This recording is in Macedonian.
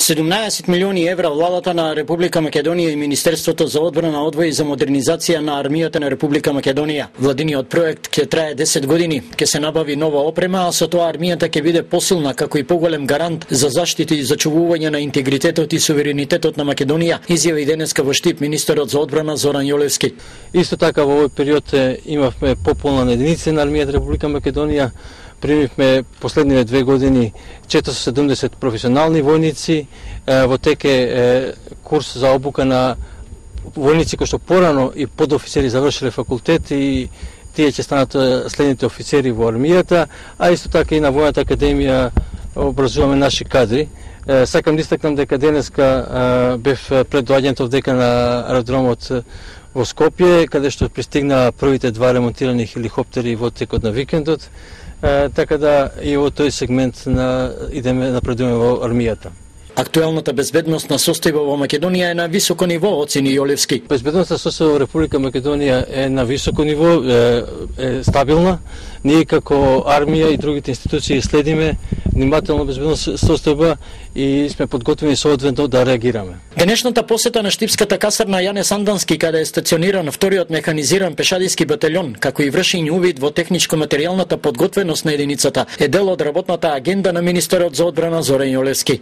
17 милиони евра владата на Република Македонија и Министерството за одбрана одвои за модернизација на армијата на Република Македонија. Владиниот проект ќе трае 10 години, ќе се набави нова опрема, а со тоа армијата ќе биде посилна како и поголем гарант за заштита и зачувување на интегритетот и суверенитетот на Македонија, изјави денеска во Штип министерот за одбрана Зоран Јолевски. Исто така во овој период имавме пополна единици на армијата Република Македонија. Примивме последниве 2 години 470 професионални војници, во тек е курс за обука на војници кои што порано и подофицери завршиле факултет и тие ќе станат следните офицери во армијата, а исто така и на Војната академија образуваме наши кадри. Сакам да истакнам дека денеска бев пред доаѓањето дека на аеродромот во Скопје, каде што пристигна првите 2 ремонтирани хеликоптери во текот на викендот, така да и во тој сегмент напредуваме во армијата. Актуелната безбедносна состојба во Македонија е на високо ниво, оцени Јолевски. Безбедносната состојба во Република Македонија е на високо ниво, е стабилна. Ние како армија и другите институции следиме внимателно безбедносна состојба и сме подготвени соодветно да реагираме. Денешната посета на Штипската касарна Јане Сандански, каде е стациониран вториот механизиран пешадиски батальон, како и вршење увид во техничко-материјалната подготвеност на единицата, е дел од работната агенда на министерот за одбрана Зоран Јолевски.